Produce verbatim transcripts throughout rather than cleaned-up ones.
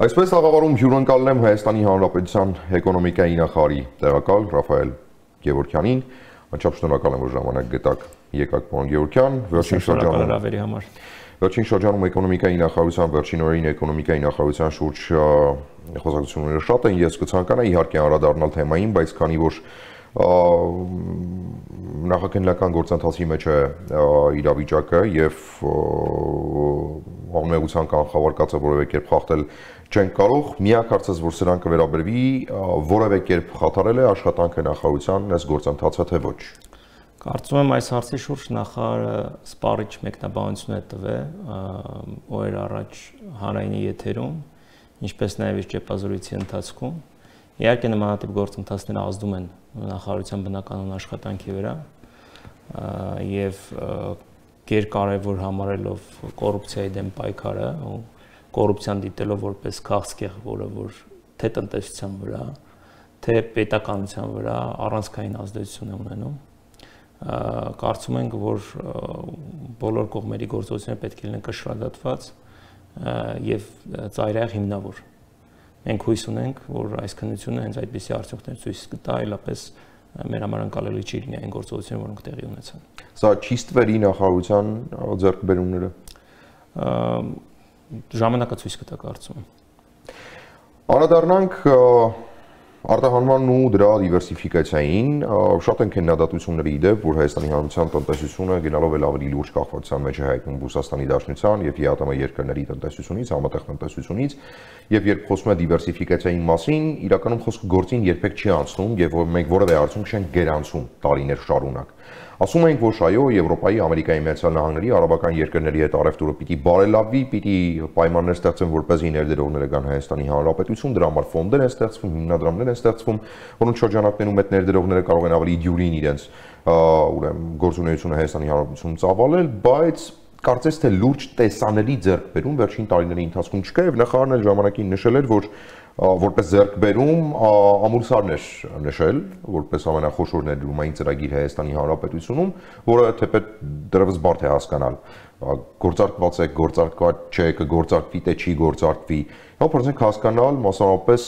Այսպես աղավարում հյուրընկալել եմ Հայաստանի Հանրապետության էկոնոմիկայի նախարարի տեղակալ Ռաֆայել Գևորգյանին, անչափ շնորհակալ եմ, որ ժամանակ գտաք, եկաք պարոն Գևորգյան, վերջին շրջանում Վերջին շրջանում էկոնոմիկայի նախարարության վերջին օրերին էկոնոմիկայի նախարարության շուրջ խոսակցությունները շատ են, ես կցանկանայի իհարկե անդրադառնալ թեմային, բայց քանի որ նախաքննական գործընթացի մեջ է իրավիճակը եւ ամենության կանխավարկածը որևէ կերպ խախտել չեն կարող, միակ հարցս, որ սրան կվերաբերվի, որևէ կերպ խաթարել է աշխատանքը նախարարության այս գործընթացը թե ոչ։ Կարծում եմ այս հարցի շուրջ նախարարը սպառիչ մեկնաբանություն է տվել օրեր առաջ հանրայինի եթերում, ինչպես նաև իր ճեպազորույցի ընթացքում։ Իհարկե նմանատիպ գործընթացները ազդում են նախարարության բնականոն աշխատանքի վրա եւ գերկարևոր համարելով կոռուպցիայի դեմ պայքարը ու կոռուպցիան դիտելով որպես քաղցկեղ, որը որ թե տնտեսության վրա, թե պետականության վրա առանցքային ազդեցություն է ունենում։ Կարծում ենք, որ բոլոր կողմերի գործողությունները պետք է լինեն կշռադատված եւ ծայրահեղ հիմնավոր։ Մենք հույս ունենք, որ այս քննությունը հենց այդպիսի արդյունքներ ցույց կտա, այլապես մեր համար անցալելի չի լինի այն գործողությունները, որոնք տեղի ունեցան։ Սա չի ստվերի նախարարության ձեռքբերումները։ Ժամանակը ցույց կտա, կարծում եմ։ Անդրադառնանք արտահանման ու դրա դիվերսիֆիկացիային, շատ են քննադատությունների իդեպ, որ Հայաստանի Հանրապետության տնտեսությունը գնալով էլ ավելի լուրջ կախվածության մեջ է հայտնում Ռուսաստանի Դաշնության եւ ԵԱՏՄ երկրների տնտեսությունից, համատեղ տնտեսությունից, եւ երբ խոսում է դիվերսիֆիկացիայի մասին, իրականում խոսքը գործին երբեք չի անցնում եւ մենք որևէ արդյունք չենք գերանցում տարիներ շարունակ։ Ասում ենք, որ այո, Եվրոպայի, Ամերիկայի Միացյալ Նահանգների, արաբական երկրների հետ առևտուրը պիտի բարելավվի, պիտի պայմաններ ստեղծեն, որպեսզի ներդրողները գան Հայաստանի Հանրապետություն, դրա համար ֆոնդեր են ստեղծվում, հիմնադրամներ են ստեղծվում, որոնց շրջանակներում այդ ներդրողները կարող են ավելի դյուրին իրենց ուրեմն գործունեությունը Հայաստանի Հանրապետությունում ծավալել, բայց կարծես թե լուրջ տեսանելի ձեռքբերում վերջին տարիների ընթացքում չկա եւ նախարարն էլ ժամանակին նշել էր, որ որպես ձեռքբերում ամուրսարն էր նշել, որպես ամենախոշոր ներդրումային ծրագիր Հայաստանի Հանրապետությունում, որը թեպետ դեռևս բարդ է հասկանալ, գործարկված է, գործարկված չէ, կգործարկվի, թե չի գործարկվի, ನಾವು փորձենք հասկանալ մասնավորապես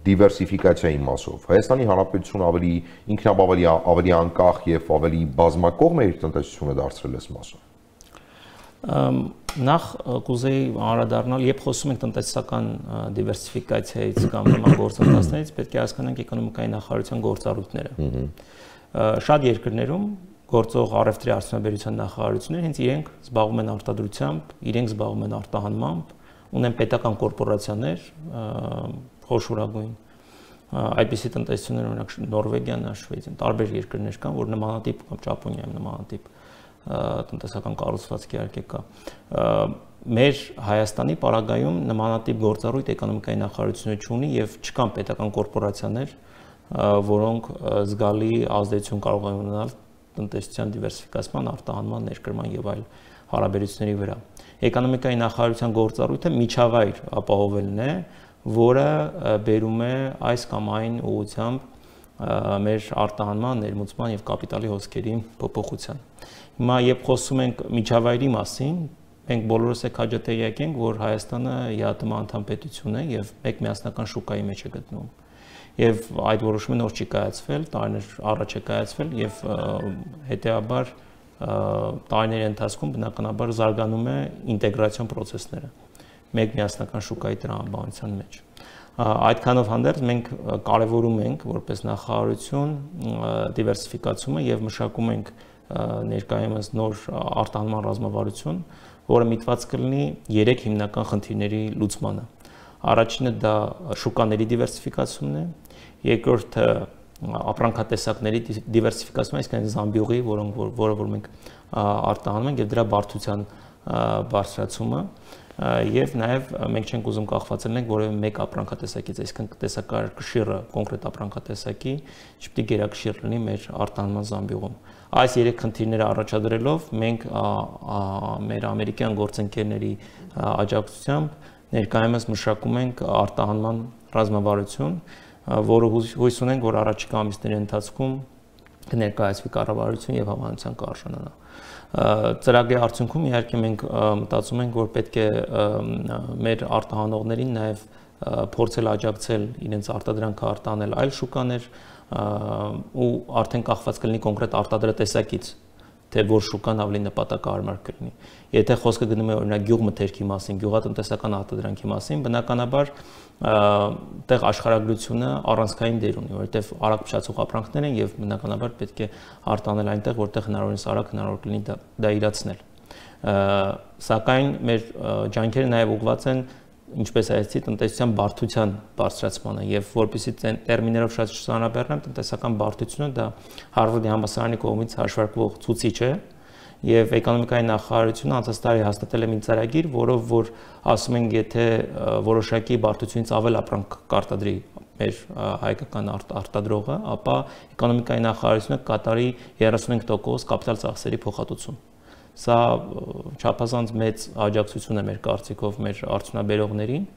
դիվերսիֆիկացիայի մասով։ Հայաստանի Հանրապետությունը ավելի ինքնաբավելի, ավելի անկախ եւ ավելի բազմակողմ է իր տնտեսությունը դարձրել այս մասով։ Նախ կուզեի անդրադառնալ, երբ խոսում ենք տնտեսական դիվերսիֆիկացիայից կամ նման գործընթացներից, պետք է հասկանանք էկոնոմիկայի նախարարության գործառույթները։ Շատ երկրներում գործող առևտրի արդյունաբերության նախարարությունները հենց իրենք զբաղվում են արտադրությամբ, իրենք զբաղվում են արտահանմամբ, ունեն պետական կորպորացիաներ, խոշորագույն այդպիսի տնտեսություններ, օրինակ Նորվեգիան, Շվեյցարիան, տարբեր երկրներ կան, որ նմանատիպ կամ Ճապոնիայում նմանատիպ տնտեսական կառուցվածք իհարկե կա։ Մեր Հայաստանի պարագայում նմանատիպ գործառույթ էկոնոմիկայի նախարարությունը չունի եւ չկան պետական կորպորացիաներ, որոնք զգալի ազդեցություն կարող են ունենալ տնտեսության դիվերսիֆիկացման, արտահանման, ներկրման եւ այլ հարաբերությունների վրա։ Էկոնոմիկայի նախարարության գործառույթը միջավայր ապահովելն է, որը բերում է այս կամ այն ուղղությամբ մեր արտահանման, ներմուծման եւ կապիտալի հոսքերի փոփոխության։ Հիմա երբ խոսում ենք միջավայրի մասին, մենք բոլորս եք հաջատեղյակ ենք, որ Հայաստանը ԵԱՏՄ անդամ պետություն է եւ մեկ միասնական շուկայի մեջ է գտնվում։ Եվ այդ որոշումը նոր չի կայացվել, տարիներ առաջ է կայացվել եւ հետեւաբար տարիների ընթացքում բնականաբար զարգանում է ինտեգրացիոն process-ները մեկ միասնական շուկայի տրամաբանության մեջ։ Այդքանով հանդերձ մենք կարևորում ենք որպես նախարարություն դիվերսիֆիկացումը եւ մշակում ենք ներկայումս նոր արտահանման ռազմավարություն, որը միտված կլինի երեք հիմնական խնդիրների լուծմանը։ Առաջինը դա շուկաների դիվերսիֆիկացումն է, երկրորդը ապրանքատեսակների դիվերսիֆիկացումը, այսինքն զամբյուղի, որոնք որը որ մենք արտահանում ենք եւ դրա բարդության բարձրացումը, եւ նաեւ մենք չենք ուզում կախված լինենք որևէ մեկ ապրանքատեսակից, այսինքն տեսակարգշիռը կոնկրետ ապրանքատեսակի չպետք է գերակշիռ լինի մեր արտահանման զամբյուղում։ Այս երեք խնդիրները առաջադրելով մենք մեր ամերիկյան գործընկերների աջակցությամբ ներկայումս մշակում ենք արտահանման ռազմավարություն, որը հույս ունենք, որ առաջիկա ամիսների ընթացքում կներկայացվի կառավարություն եւ հավանության կարժանանա։ Ծրագրի արդյունքում իհարկե մենք մտածում ենք, որ պետք է մեր արտահանողներին նաև փորձել աջակցել իրենց արտադրանքը արտանել այլ շուկաներ ու արդեն կախված կլինի կոնկրետ արտադրատեսակից, թե որ շուկան ավելի նպատակահարմար կլինի։ Եթե խոսքը գնում է օրինակ գյուղմթերքի մասին, գյուղատնտեսական արտադրանքի մասին, բնականաբար տեղ աշխարհագրությունը առանցքային դեր ունի, որովհետև արագ փչացող ապրանքներ են եւ բնականաբար պետք է արտանել այնտեղ, որտեղ հնարավորինս արագ հնարավոր կլինի դա, դա իրացնել։ Սակայն մեր ջանքերը նաեւ ուղղված են ինչպես այսի տնտեսության բարդության բարձրացմանը եւ որպեսզի տերմիներով շատ շրջանաբեռնեմ տնտեսական բարդությունը դա Հարվարդի համալսարանի կողմից հաշվարկվող ցուցիչ է եւ էկոնոմիկայի նախարարությունը անցած տարի հաստատել է մի ծրագիր, որով որ ասում են եթե որոշակի բարդությունից ավել ապրանք կարտադրի մեր հայկական արտադրողը, ապա էկոնոմիկայի նախարարությունը կատարի երեսունհինգ տոկոս կապիտալ ծախսերի փոխհատուցում։ Սա չափազանց մեծ աջակցություն է մեր կարծիքով մեր արդյունաբերողներին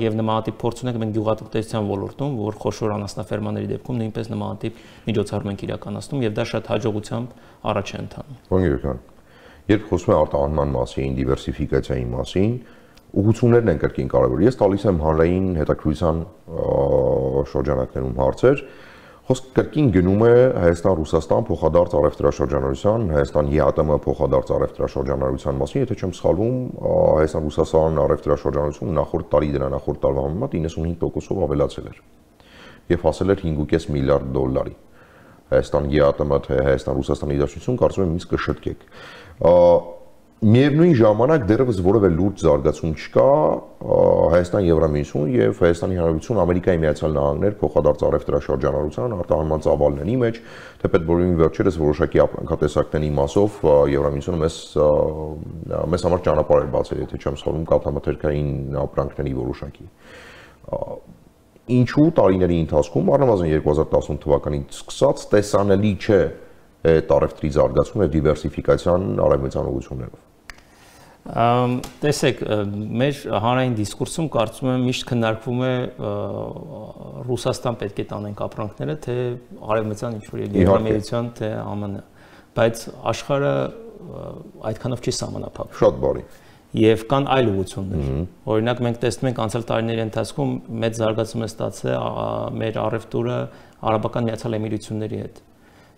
եւ նմանատիպ փորձ ունենք մենք գյուղատնտեսության ոլորտում, որ խոշոր անասնաֆերմաների դեպքում նույնպես նմանատիպ միջոցառում ենք իրականացնում եւ դա շատ հաջողությամբ առաջ է ընթանում։ Ոնգերական, երբ խոսում ենք արտահանման մասին, դիվերսիֆիկացիայի մասին, ուղղություններն են կրկին կարևոր։ Ես տալիս եմ հանրային հետաքրքրության շրջանակներում հարցեր, խոսքը կրկին գնում է Հայաստան-Ռուսաստան փոխադարձ առևտրաշրջանառության, Հայաստան-ԵԱՏՄ փոխադարձ առևտրաշրջանառության մասին, եթե չեմ սխալվում, Հայաստան-Ռուսաստան առևտրաշրջանառությունը նախորդ տարի դրա նախորդ տարվա համեմատ իննսունհինգ տոկոսով ավելացել էր եւ հասել էր հինգ կես միլիարդ դոլարի։ Հայաստան-ԵԱՏՄ թե Հայաստան-Ռուսաստանի դաշնություն կարծում եմ ինձ կշտկեք։ Միևնույն ժամանակ դեռևս որևէ լուրջ զարգացում չկա Հայաստան-Եվրամիություն եւ Հայաստանի Հանրապետություն Ամերիկայի Միացյալ Նահանգներ փոխադարձ առևտրաշրջանառության արտահանման ծավալների մեջ, թեպետ բոլորին վերջերս որոշակի ապրանքատեսակների մասով Եվրամիությունը մեզ մեզ համար ճանապարհ էր բացել, եթե չեմ սխալվում, կաթամթերքային ապրանքների որոշակի։ Ինչու տարիների ընթացքում, առնվազն երկու հազար տասնութ թվականից սկսած, տեսանելի չէ այդ առևտրի զարգացումը եւ դիվերսիֆիկացիան արևմտյան ուղղություններով։ Տեսեք, մեր հանրային դիսկուրսում կարծում եմ միշտ քննարկվում է Ռուսաստան պետք է տանենք ապրանքները, թե արևմտյան ինչ-որ Եվրամիության, թե ԱՄՆ, բայց աշխարհը այդքանով չի սահմանափակվում։ Շատ բարի։ Եվ կան այլ ուղղություններ։ Օրինակ մենք տեսնում ենք անցյալ տարիների ընթացքում մեծ զարգացում է ստացել մեր առևտուրը Արաբական Միացյալ Էմիրությունների հետ։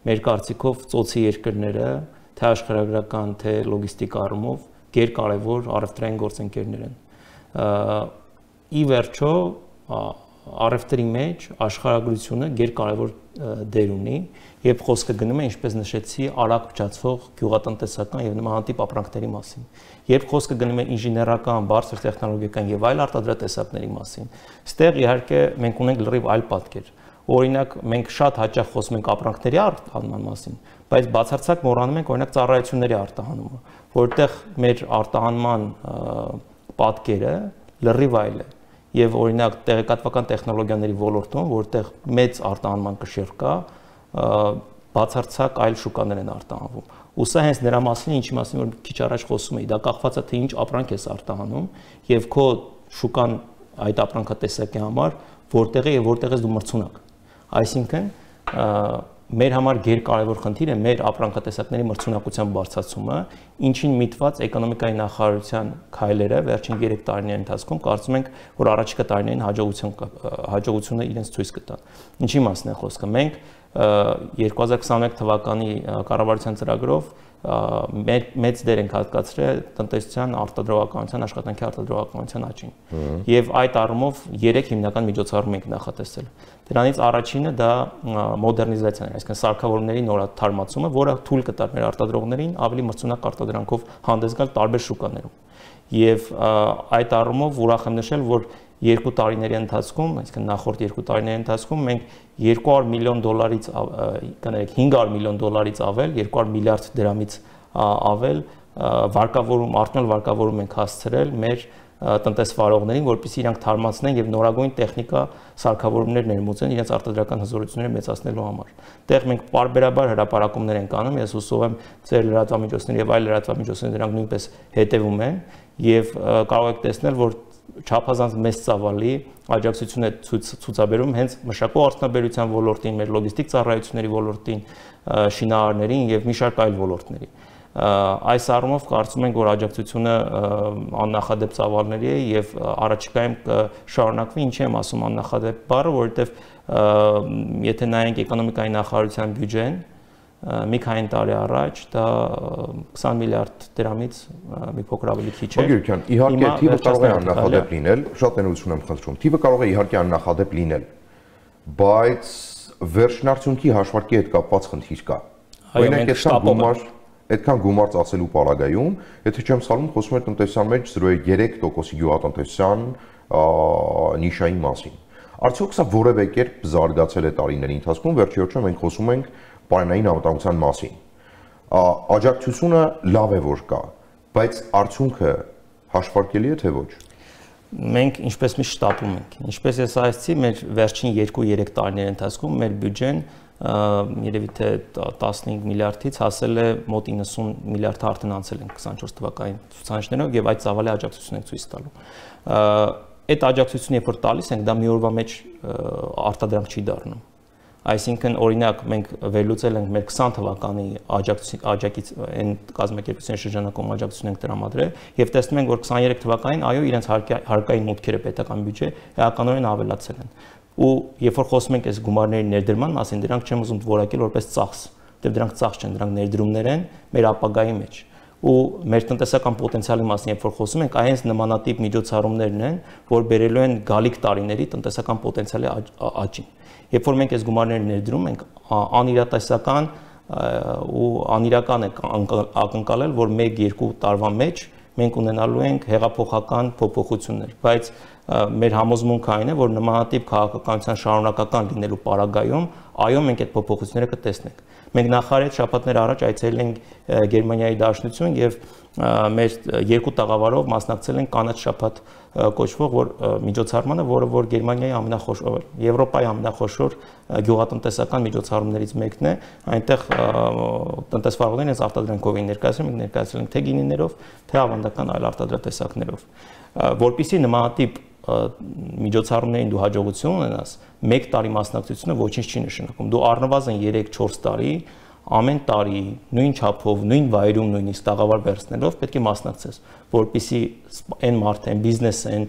Մեր կարծիքով ծոցի երկրները, թե աշխարհագրական, թե լոգիստիկ առումով գերկարևոր առևտրային գործընկերներ են։ Ի վերջո, առևտրի մեջ աշխարհագրությունը գերկարևոր դեր ունի, եւ խոսքը գնում է, ինչպես նշեցի, արագ փչացող գյուղատնտեսական եւ նմանատիպ ապրանքների մասին։ Երբ խոսքը գնում է ինժեներական, բարձր տեխնոլոգիական եւ այլ արտադրատեսակների մասին, ստեղ իհարկե մենք ունենք լրիվ այլ պատկեր։ Օրինակ մենք շատ հաճախ խոսում ենք ապրանքների արտահանման մասին, բայց բացարձակ մոռանում ենք օրինակ ծառայությունների արտահանումը, որտեղ մեր արտահանման պատկերը լրիվ այլ է։ Եվ օրինակ տեղեկատվական տեխնոլոգիաների ոլորտում, որտեղ մեծ արտահանման կշիռ կա, բացարձակ այլ շուկաներ են արտահանվում։ Ու սա հենց նրա մասին է, ինչի մասին որ քիչ առաջ խոսում էի, դա կախված է թե ինչ ապրանք ես արտահանում եւ քո շուկան այդ ապրանքատեսակի համար որտեղ է եւ որտեղ ես դու մրցունակ։ Այսինքն մեր համար գերկարևոր խնդիր է մեր ապրանքատեսակների մրցունակության բարձրացումը, ինչին միտված էկոնոմիկայի նախարարության քայլերը վերջին երեք տարիների ընթացքում կարծում ենք, որ առաջիկա տարիներին հաջողություն հաջողությունը իրենց ցույց կտան։ Ինչի մասն է խոսքը։ Մենք երկու հազար քսաներեք թվականի կառավարության ծրագրով մեծ դեր ենք հատկացրել տնտեսության արտադրողականության, աշխատանքի արտադրողականության աճին։ Եվ այդ առումով երեք հիմնական միջոցառում ենք նախատեսել։ Դրանից առաջինը դա մոդեռնիզացիան է, այսինքն սարքավորումների նորաթարմացումը, որը թույլ կտար մեր արտադրողներին ավելի մրցունակ արտադրանքով հանդես գալ տարբեր շուկաներում։ Եվ այդ առումով ուրախ եմ նշել, որ երկու տարիների ընթացքում, այսինքն նախորդ երկու տարիների ընթացքում մենք երկու հարյուր միլիոն դոլարից, կներեք հինգ հարյուր միլիոն դոլարից ավել, երկու հարյուր միլիարդ դրամից ավել վարկավորում, արտոնալ վարկավորում ենք հասցրել մեր տնտեսվարողներին, որպեսզի իրանք թարմացնեն եւ նորագույն տեխնիկա սարքավորումներ ներմուծեն իրենց արտադրական հզորությունները մեծացնելու համար։ Դեռ մենք պարբերաբար հրապարակումներ ենք անում, ես հուսով եմ ձեր լրատվամիջոցների եւ այլ լրատվամիջոցների դրանք նույնպես հետեւում են եւ կարող եք տեսնել, որ չափազանց մեծ ծավալի աջակցություն է ցուցաբերում հենց մշակող արդյունաբերության ոլորտին, մեր լոգիստիկ ծառայությունների ոլորտին, շինարարներին եւ մի շարք այլ ոլորտների։ Այս առումով կարծում ենք, որ աջակցությունը աննախադեպ ծավալների է եւ առաջիկայում կշարունակվի, ինչի եմ ասում աննախադեպ բառը, որովհետեւ եթե նայենք էկոնոմիկայի նախարարության բյուջեն, մի քանի տարի առաջ դա քսան միլիարդ դրամից մի փոքր ավելի քիչ է։ Գյուրքյան, իհարկե թիվը կարող է աննախադեպ լինել, շատ ներողություն եմ խնդրում։ Թիվը կարող է իհարկե աննախադեպ լինել, բայց վերջնարդյունքի հաշվարկի հետ կապված խնդիր կա։ Օրինակ, այդքան գումար, այդքան գումար ծախսելու պարագայում, եթե չեմ սխալվում, խոսում էր տնտեսության մեջ զրո է երեք տոկոսի գյուղատնտեսության նիշայի մասին։ Արդյոք սա որևէ կերպ զարգացել է տարիների ընթացքում, վերջի վերջո մենք խոսում ենք պարենային անվտանգության մասին։ Աջակցությունը լավ է որ կա, բայց արդյունքը հաշվարկելի է թե ոչ։ Մենք ինչպես միշտ շտապում ենք։ Ինչպես ես ասացի, մեր վերջին երկու-երեք տարիների ընթացքում մեր բյուջեն երևի թե տասնհինգ միլիարդից հասել է մոտ իննսուն միլիարդ արդեն անցել են քսանչորս թվականին ցուցանիշներով եւ այդ ծավալի աջակցություն ենք ցույց տալու։ Այդ աջակցությունը երբ որ տալիս ենք, դա մի օրվա մեջ արտադրանք չի դառնում։ Այսինքն օրինակ մենք վերլուծել ենք մեր քսան թվականի աջակից այն կազմակերպությունների շրջանակում աջակցություն ենք տրամադրել եւ տեսնում ենք որ քսաներեք թվականին այո իրենց հարկային մուտքերը պետական բյուջե էականորեն ավելացել են ու երբ որ խոսում ենք այս գումարների ներդրման մասին դրանք չեմ ուզում որակել որպես ծախս դեռ դրանք ծախս չեն դրանք ներդրումներ են մեր ապագայի մեջ ու մեր տնտեսական պոտենցիալի մասին երբ որ խոսում ենք այնց նմանատիպ միջոցառումներն են որ բերելու են գալիք տարիների տնտեսական պոտենցիալի աճին Երբ որ մենք այս գումարները ներդրում ենք, անիրատեսական ու անիրական է ակնկալել, որ մեկ-երկու տարվա մեջ մենք ունենալու ենք հեղափոխական փոփոխություններ, բայց մեր համոզմունքը այն է, որ նմանատիպ քաղաքականության շարունակական լինելու պարագայում, այո, մենք այդ փոփոխությունները կտեսնենք։ Մենք նախարարից շաբաթներ առաջ այցելել ենք Գերմանիայի Դաշնություն եւ մեր երկու տաղավարով մասնակցել ենք կանաչ շաբաթ կոչվող որ միջոցառմանը, որը որ Գերմանիայի ամենախոշոր, Եվրոպայի ամենախոշոր գյուղատնտեսական միջոցառումներից մեկն է, այնտեղ տնտեսվարողներն այս արտադրանքով են ներկայացնում, մենք ներկայացրել ենք թե գինիներով, թե ավանդական այլ արտադրատեսակներով, որպեսզի նմանատիպ միջոցառումներին դու հաջողություն ունենաս, մեկ տարի մասնակցությունը ոչինչ չի նշանակում։ Դու առնվազն երեք-չորս տարի ամեն տարի նույն չափով, նույն վայրում նույնիսկ տաղավար վերցնելով պետք է մասնակցես, որպեսզի այն մարդը, այն բիզնեսը, այն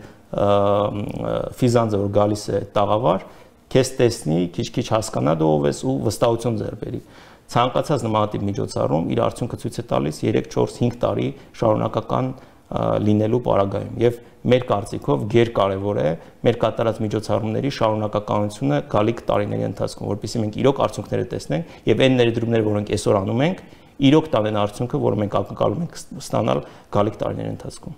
ֆիզանձը, որ գալիս է տաղավար, քեզ տեսնի, քիչ-քիչ հասկանա դու ով ես ու վստահություն ձեռք բերի։ Ցանկացած նմանատիպ միջոցառում իր արդյունքը ցույց է տալիս երեք-չորս-հինգ տարի շարունակական լինելու պարագայում եւ մեր կարծիքով գերկարևոր է մեր կատարած միջոցառումների շարունակականությունը գալիք տարիների ընթացքում, որովհետեւ մենք իրոք արդյունքները տեսնենք եւ այն ներդրումները, որոնք այսօր անում ենք, իրոք տանեն արդյունքը, որը մենք ակնկալում ենք ստանալ գալիք տարիների ընթացքում։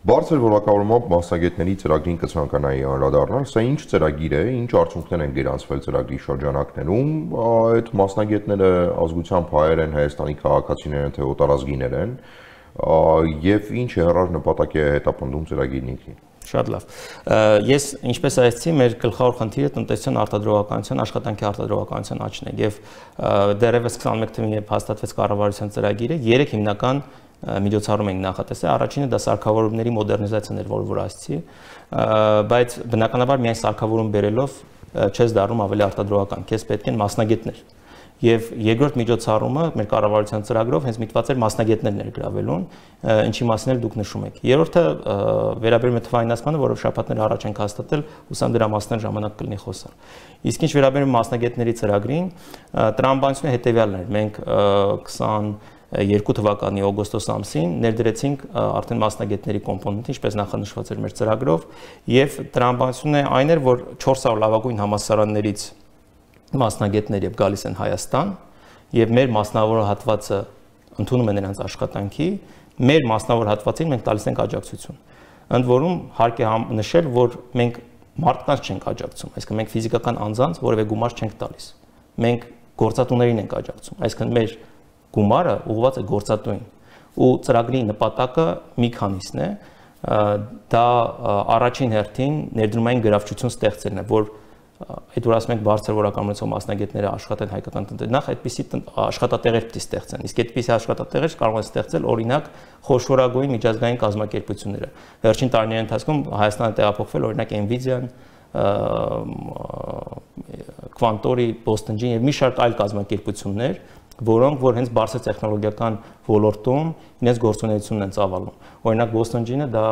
Բարձր որակավորմամբ մասնագետների ծրագրին կցանկանայի անդրադառնալ, սա ինչ ծրագիր է, ինչ արդյունքներ են գրանցվել ծրագրի շրջանակներում, այդ մասնագետները ազգությամբ հայեր են, Հայաստանի քաղաքացիներ են, թե օտարազգիներ են, եւ ինչ հեռար նպատակ է հետապնդում ծրագիրն ինքնին։ Շատ լավ։ Ես ինչպես ասացի, մեր գլխավոր խնդիրը տնտեսության արտադրողականության, աշխատանքի արտադրողականության աճն է եւ դեռևս քսանմեկ թվականին երբ հաստատվեց կառավարության ծրագիրը, երեք հիմնական միջոցառում ենք նախատեսել։ Առաջինը դա սարքավորումների մոդեռնիզացիան էր, որը որ ասացի, բայց բնականաբար միայն սարքավորում բերելով չես դառնում ավելի արտադրողական, քեզ պետք են մասնագետներ։ Եվ երկրորդ միջոցառումը մեր կառավարության ծրագրով հենց միտված էր մասնագետներ ներգրավելուն, ինչի մասին էլ դուք նշում եք։ Երրորդը վերաբերում է թվայնացմանը, որով շաբաթներ առաջ ենք հաստատել, ուսամ դրա մասին ժամանակ կլինի խոսալ։ Իսկ ինչ վերաբերում մասնագետների ծրագրին, տրամաբանությունը հետևյալն էր։ Մենք քսաներկու թվականի օգոստոս ամսին ներդրեցինք արդեն մասնագետների կոմպոնենտ, ինչպես նախանշված էր մեր ծրագրով, եւ տրամաբանությունը այն էր, որ չորս հարյուր լավագույն համալսարաններից մասնագետներ եւ գալիս են Հայաստան եւ մեր մասնավոր հատվածը ընդունում են նրանց աշխատանքի, մեր մասնավոր հատվածին մենք տալիս ենք աջակցություն։ Ընդ որում հարկ է նշել, որ մենք մարդկանց չենք աջակցում, այսինքն մենք ֆիզիկական անձանց որևէ գումար չենք տալիս։ Մենք գործատուներին ենք աջակցում, այսինքն մեր գումարը ուղղված է գործատուին։ Ու ծրագրի նպատակը մի քանիսն է, դա առաջին հերթին ներդրումային գրավչություն ստեղծելն է, որ այդ որ ասում ենք բարձր որակավորությամբ մասնագետները աշխատեն հայկական տնտեսության, նախ այդպիսի աշխատատեղեր պիտի ստեղծեն։ Իսկ այդպիսի աշխատատեղեր կարող են ստեղծել օրինակ խոշորագույն միջազգային կազմակերպությունները։ Վերջին տարիների ընթացքում Հայաստանը տեղափոխվել օրինակ Nvidia-ն, Quantori, Boston Gen եւ մի շարք այլ կազմակերպություններ, որոնք որ հենց բարձր տեխնոլոգիական ոլորտում իրենց գործունեությունն են ծավալում։ Օրինակ Boston Gin-ը դա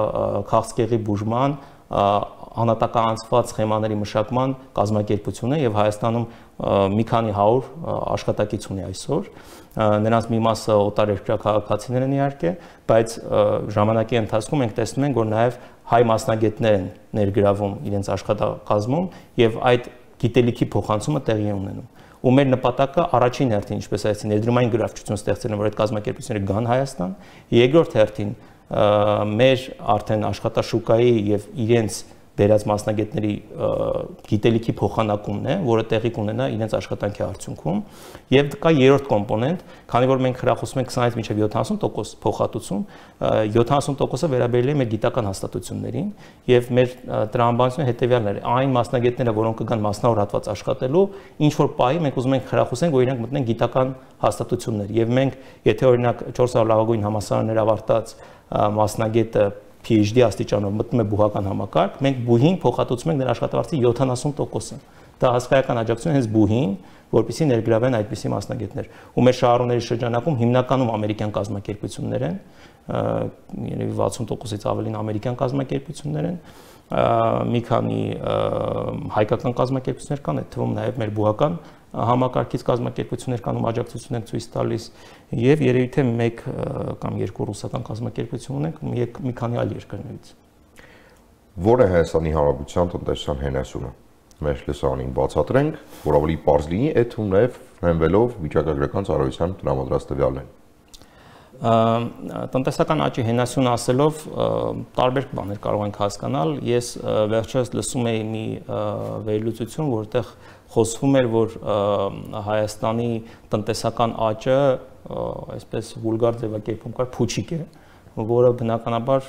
քաղցկեղի բուժման, անհատականացված սխեմաների մշակման կազմակերպություն է եւ Հայաստանում մի քանի հարյուր աշխատակից ունի այսօր։ Նրանց մի մասը օտարերկրյա քաղաքացիներ են իհարկե, բայց ժամանակի ընթացքում մենք տեսնում ենք, որ նաեւ հայ մասնագետներ են ներգրավում իրենց աշխատակազմում եւ այդ գիտելիքի փոխանցումը տեղի է ունենում։ Ու մեր նպատակը առաջին հերթին, ինչպես այսինքն ներդրումային գրավչություն ստեղծելն, որ այդ կազմակերպությունները գան Հայաստան, երկրորդ հերթին մեր արդեն աշխատաշուկայի եւ իրենց դերած մասնագետների գիտելիքի փոխանակումն է, որը տեղի կունենա իրենց աշխատանքի արդյունքում, եւ կա երրորդ կոմպոնենտ, քանի որ մենք հրախուսում ենք քսանից մինչև յոթանասուն տոկոս փոխհատուցում, յոթանասուն տոկոսը վերաբերել է մեր գիտական հաստատություններին եւ մեր տրամաբանությունը հետեւյալն է, այն մասնագետները, որոնք կգան մասնավոր հատված աշխատելու, ինչ որ պահի մենք ուզում ենք հրախուսենք, որ իրենք մտնեն գիտական հաստատություններ եւ մենք, եթե օրինակ չորս հարյուր լավագույն համալսարաններ ավարտած մասնագետը PhD աստիճանով մտնում է բուհական համակարգ, մենք բուհին փոխհատուցում ենք նրա աշխատավարձի յոթանասուն տոկոսը։ Դա հսկայական աջակցություն է հենց բուհին, որպեսզի ներգրավեն այդպիսի մասնագետներ։ Ու մեր շահառուների շրջանակում հիմնականում ամերիկյան կազմակերպություններ են, երևի վաթսուն տոկոսից ավելին ամերիկյան կազմակերպություններ են, մի քանի հայկական կազմակերպություններ կան, այդ թվում նաև մեր բուհական համակարգից կազմակերպություններ կան, ում աջակցություն են ցույց տալիս, եւ երևի թե մեկ կամ երկու ռուսական կազմակերպություն ունենք մի քանի այլ երկրներից։ Ո՞ր է Հայաստանի Հանրապետության տնտեսության հենասյունը։ Մեր լսանին բացատրենք, որ ավելի պարզ լինի, այդ թվում նաև հենվելով վիճակագրական ծառայության տրամադրած տվյալներին։ Տնտեսական աճի հենասյուն ասելով տարբեր բաներ կարող ենք հասկանալ։ Ես վերջերս լսում էի մի վերլուծություն, որտեղ խոսվում էր, որ Հայաստանի տնտեսական աճը, այսպես վուլգար ձևակերպում կար, փուչիկ է, որը բնականաբար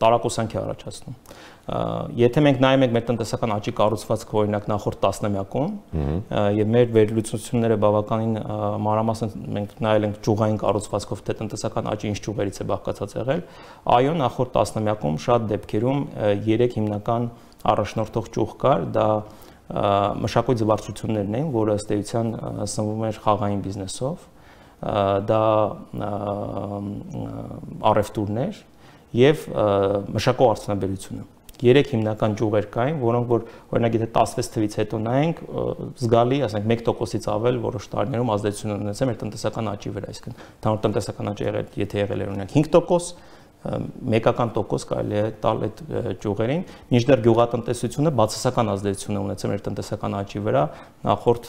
տարակուսանք է առաջացնում։ Եթե մենք նայում ենք մեր տնտեսական աճի կառուցվածքը օրինակ նախորդ տասնամյակում, եւ մեր վերլուծությունները բավականին մանրամասն մենք նայել ենք ճյուղային կառուցվածքով, թե տնտեսական աճի ինչ ճյուղերից է բաղկացած եղել, այո, նախորդ տասնամյակում շատ դեպքերում երեք հիմնական առաջնորդող ճյուղ կար, դա մշակույթ զվարճություններն էին, որը ըստ էության սնվում էր խաղային բիզնեսով, դա առևտուրներ եւ մշակող արդյունաբերությունը։ Երեք հիմնական ճյուղեր կային, որոնք որ օրինակ եթե տասնվեց թվից հետո նայենք, զգալի, ասենք մեկ տոկոսից ավել որոշ տարիներում ազդեցություն ունեցել մեր տնտեսական աճի վրա, այսինքն ընդհանուր տնտեսական աճը եղել, եթե եղել էր օրինակ հինգ տոկոս, մեկական տոկոս կարելի է տալ այդ ճյուղերին, մինչդեռ գյուղատնտեսությունը բացասական ազդեցություն է ունեցել մեր տնտեսական աճի վրա նախորդ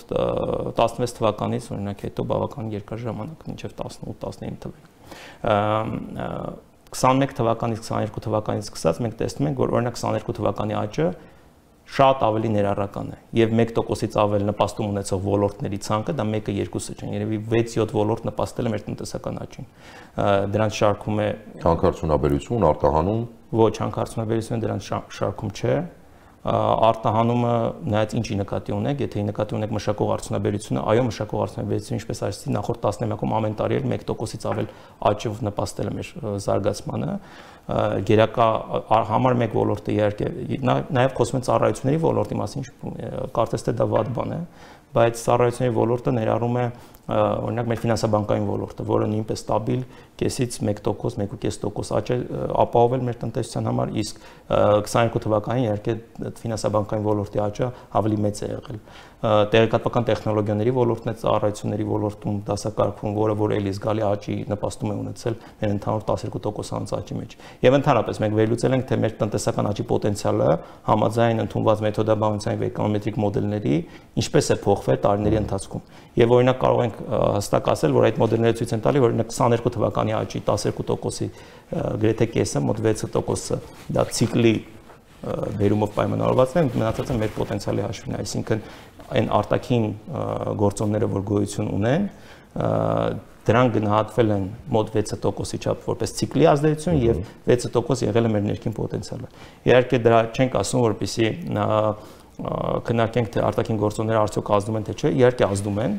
տասնվեց թվականից օրինակ հետո բավական երկար ժամանակ, մինչև տասնութ տասնինը թվեր։ քսանմեկ թվականից քսաներկու թվականից սկսած մենք տեսնում ենք, որ օրինակ քսաներկու թվականի աճը շատ ավելի ներառական է եւ մեկ տոկոսից ավել նպաստում ունեցող ոլորտների ցանկը դա մեկը երկուսը չէ, երևի վեց-յոթ ոլորտ նպաստել է մեր տնտեսական աճին։ Դրանց շարքում է հանքարդյունաբերություն, արտահանում, ոչ, հանքարդյունաբերությունը դրանց շարքում չէ, արտահանումը նայած ինչի նկատի ունեք, եթե նկատի ունեք մշակող արդյունաբերությունը, այո, մշակող արդյունաբերությունը ինչպես ասեցի, նախորդ տասնամյակում ամեն տարի էլ մեկ տոկոսից ավել աճով նպաստել է մեր զարգացմանը, գերակա համար մեկ ոլորտը իհարկե, նաև խոսում են ծառայությունների ոլորտի մասին, կարծես թե դա վատ բան է, բայց ծառայությունների ոլորտը ներառում է օրինակ մեր ֆինանսաբանկային ոլորտը, որը նույնպես ստաբիլ կեսից մեկ տոկոս, մեկ ու կես տոկոս աճ է ապահովել մեր տնտեսության համար, իսկ քսաներկու թվականին իհարկե ֆինանսաբանկային ոլորտի աճը ավելի մեծ է եղել։ Տեղեկատվական տեխնոլոգիաների ոլորտն է ծառայությունների ոլորտում դասակարգվում, որը որ էլի զգալի աճի նպաստում է ունեցել մեր ընդհանուր տասներկու տոկոսանոց աճի մեջ։ Եվ ընդհանրապես մենք վերլուծել ենք, թե մեր տնտեսական աճի պոտենցիալը համաձայն ընդունված մեթոդաբանության եւ էկոնոմետրիկ մոդելների ինչպես է փոխվել տարիների ընթացքում։ Եվ օրինակ կարող ենք հստակ ասել, որ այդ մոդելները ցույց են տալի, որ օրինակ քսաներկու թվականի աճի տասներկու տոկոսի գրեթե կեսը, մոտ վեց տոկոսը դա ցիկլի վերումով պայմանավորված է, մնացածը մեր պոտենցիալի հաշվին է, այսինքն այն արտաքին գործոնները, որ գոյություն ունեն, դրանք գնահատվել են մոտ վեց տոկոսի չափ որպես ցիկլի ազդեցություն եւ վեց տոկոս եղել է մեր ներքին պոտենցիալը։ Իհարկե դրա չենք ասում, որպեսզի քննարկենք, թե արտաքին գործոնները արդյոք ազդում են թե չէ, իհարկե ազդում են,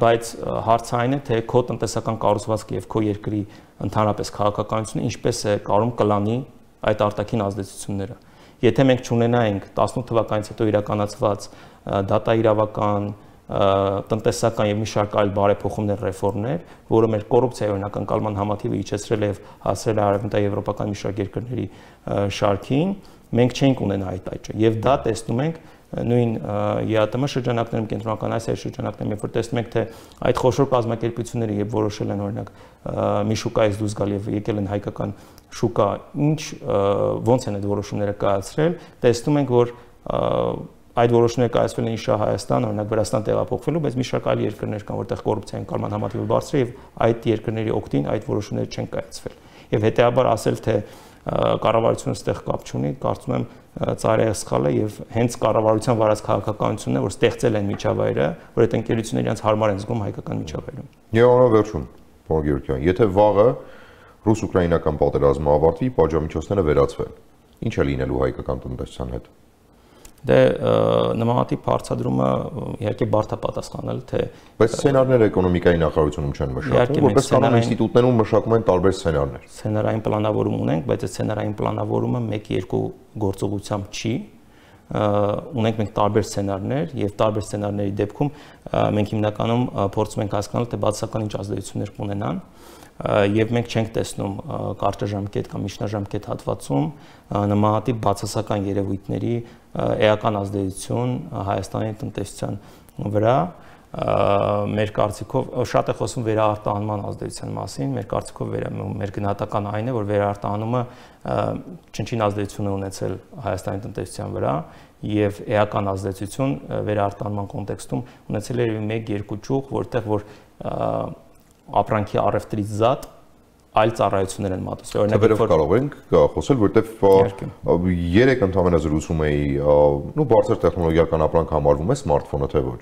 բայց հարցը այն է, թե քո տնտեսական կառուցվածքը եւ քո երկրի ընդհանրապես քաղաքականությունը ինչպես է կարող կլանի այդ արտաքին ազդեցությունները։ Եթե մենք չունենայինք տասնութ թվականից հետո իրականացված դատա իրավական, տնտեսական եւ մի շարք այլ բարեփոխումներ, ռեֆորմներ, որը մեր կոռուպցիայի օրինակ ընկալման համատիվը իջեցրել է եւ հասցրել է արևմտաեվրոպական մի շարք երկրների շարքին, մենք չենք ունենա այդ այճը եւ դա տեսնում ենք նույն ԵԱՏՄ շրջանակներում, կենտրոնական Ասիայի շրջանակներում, երբ որ տեսնում ենք թե այդ խոշոր կազմակերպությունները երբ որոշել են օրինակ մի շուկայից դուրս գալ եւ եկել են հայկական շուկա, ինչ ոնց են այդ որոշումները կայացրել, տեսնում ենք որ այդ որոշումները կայացվել են իշա Հայաստան, օրինակ Վրաստան տեղափոխվելու, բայց մի շարք այլ երկրներ կան, որտեղ կոռուպցիայի ընկալման համատիվը բարձր է եւ այդ երկրների օգտին այդ որոշումները չեն կայացվել։ Եվ հետեւաբար ասել թե կառավարությունը ստեղ կապ չունի, կարծում եմ ծայրահեղ սխալ է եւ հենց կառավարության վարած քաղաքականությունն է, որ ստեղծել են միջավայրը, որ այդ ընկերությունները իրենց հարմար են զգում հայկական միջավայրում։ Եվ անվերջում, պարոն Գևորգյան, եթե վաղը ռուս-ուկրաինական պատերազմը ավարտվի, պատժամիջոցները վերացվեն, ինչ է լինելու հայկական տնտեսության հետ։ Դե նմանատիպ հարցադրումը իհարկե բարդ է պատասխանել, թե բայց սցենարները էկոնոմիկայի նախարարությունում չեն մշակվում, որպես կանոն ինստիտուտներում մշակում են տարբեր սցենարներ։ Սցենարային պլանավորում ունենք, բայց այդ սցենարային պլանավորումը մեկ-երկու գործողությամբ չի։ Ունենք մենք տարբեր սցենարներ եւ տարբեր սցենարների դեպքում մենք հիմնականում փորձում ենք հասկանալ, թե բացասական ինչ ազդեցություններ կունենան եւ մենք չենք տեսնում կարճաժամկետ կամ միջնաժամկետ հատվածում նմանատիպ բացասական երևույթների էական ազդեցություն Հայաստանի տնտեսության վրա մեր կարծիքով շատ է խոսում վերաարտահանման ազդեցության մասին, մեր կարծիքով մեր գնահատական այն է, որ վերաարտահանումը չնչին ազդեցություն է ունեցել Հայաստանի տնտեսության վրա եւ էական ազդեցություն վերաարտահանման կոնտեքստում ունեցել է մեկ-երկու ճյուղ, որտեղ որ ապրանքի առևտրից զատ այլ ծառայություններ են մատուցվել։ Օրինակ, որ կարող ենք խոսել, որտեվ երեք ընդհանրապես զրուցում էի, նու բարձր տեխնոլոգիական ապրանք համարվում է սմարթֆոնը, թե ոչ։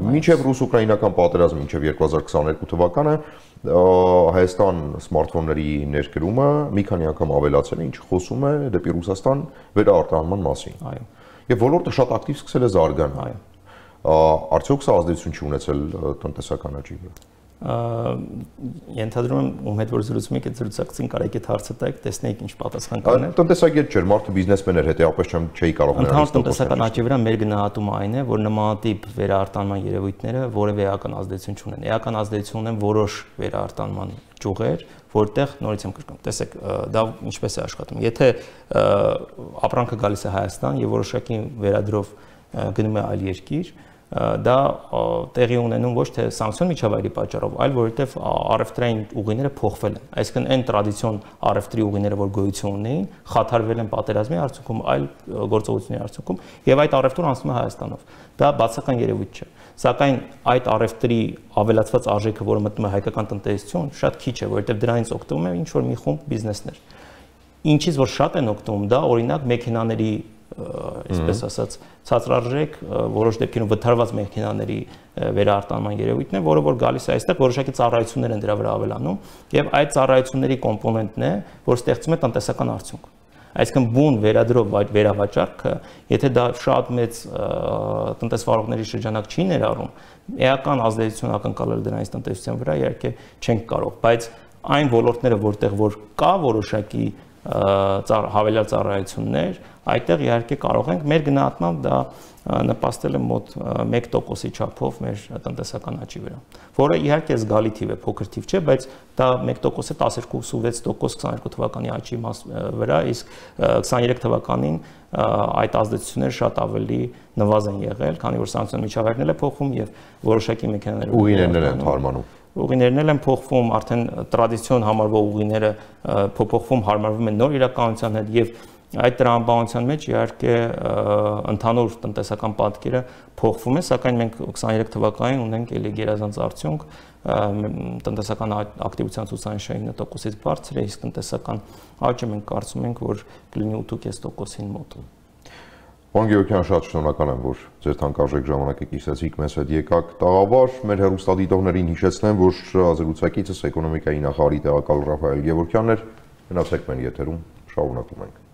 Մինչև ռուս-ուկրաինական պատերազմը, մինչև երկու հազար քսաներկու թվականը Հայաստան սմարթֆոնների ներկրումը մի քանի անգամ ավելացել է, ինչը խոսում է դեպի Ռուսաստան վերաարտահանման մասին։ Այո։ Եվ ոլորտը շատ ակտիվ սկսել է զարգանալ։ Այո։ Արդյոք սա ազդեցություն չի ունեցել տնտեսական աճի վրա։ Ենթադրում եմ ում հետ որ զրուցում եք, այդ զրուցակցին կարեք այդ հարցը տայք, տեսնեիք ինչ պատասխան կանեն։ Տնտեսագետ չէր, մարդը բիզնեսմեն էր, հետեւապես չեմ չէի կարող նրան։ Ընդհանուր տնտեսական աճի վրա մեր գնահատումը այն է, որ նմանատիպ վերաարտանման երևույթները որևէ էական ազդեցություն չունեն։ Էական ազդեցություն ունեն որոշ վերաարտանման ճյուղեր, որտեղ նորից եմ կրկնում, տեսեք, դա ինչպես է աշխատում։ Եթե ապրանքը գալիս է Հայաստան եւ որոշակի վերադրով գնում է այլ երկիր, դա տեղի ունենում ոչ թե սանկցիոն միջավայրի պատճառով, այլ որովհետև առևտրային ուղիները փոխվել են։ Այսինքն այն տրադիցիոն առևտրի ուղիները, որ գոյություն ունեին, խաթարվել են պատերազմի արդյունքում, այլ գործողությունների արդյունքում, եւ այդ առևտուրը անցնում է Հայաստանով։ Դա բացական երևույթ չէ։ Սակայն այդ առևտրի ավելացված արժեքը, որը մտնում է հայկական տնտեսություն, շատ քիչ է, որովհետև դրանից օգտվում է ինչ որ մի խումբ բիզնեսներ։ Ինչից որ շատ են օգտվում, դա օրինակ մեքենաների այսպես ասած ցածրարժեք որոշ դեպքերում վթարված մեքենաների վերաարտանման երևույթն է, որը որ գալիս է այստեղ որոշակի ծառայություններ են դրա վրա ավելանում եւ այդ ծառայությունների կոմպոնենտն է, որ ստեղծում է տնտեսական արդյունք։ Այսինքն բուն վերադրով այդ վերավաճառքը, եթե դա շատ մեծ տնտեսվարողների շրջանակ չի ներառում, էական ազդեցություն ակնկալել դրանից տնտեսության վրա իհարկե չենք կարող, բայց այն ոլորտները, որտեղ որ կա որոշակի հավելյալ ծառայություններ, այդտեղ իհարկե կարող ենք մեր գնահատմամբ դա նպաստել է մոտ մեկ տոկոսի չափով մեր տնտեսական աճի վրա, որը իհարկե զգալի թիվ է, փոքր թիվ չէ, բայց դա մեկ տոկոս է տասնյոթ տոկոս քսաներկու թվականի աճի վրա, իսկ քսաներեք թվականին այդ ազդեցությունները շատ ավելի նվազ են եղել, քանի որ սանկցիոն միջավայրն է փոխվում եւ որոշակի մեքենաներ ուղիներն են թարմանում։ Ուղիներն են փոխվում, արդեն տրադիցիոն համարվող ուղիները փոփոխվում, հարմարվում են նոր իրականության հետ եւ այդ տրամաբանության մեջ իհարկե ընդհանուր տնտեսական պատկերը փոխվում է, սակայն մենք քսաներեք թվականին ունենք էլի գերազանց արդյունք, տնտեսական ակտիվության ցուցանիշը ինը տոկոսից բարձր է, իսկ տնտեսական աճը մենք կարծում ենք, որ կլինի ութ ու կես տոկոսին մոտ։ Պարոն Գևորգյան, շատ շնորհակալ եմ, որ ձեր թանկարժեք ժամանակը կիսեցիք մեզ հետ եկաք տաղավար, մեր հեռուստադիտողներին հիշեցնեմ, որ զրուցակիցս էկոնոմիկայի նախարարի տեղակալ Ռաֆայել Գևորգյանն էր, մնացեք մեր եթերում, շարունակում ենք։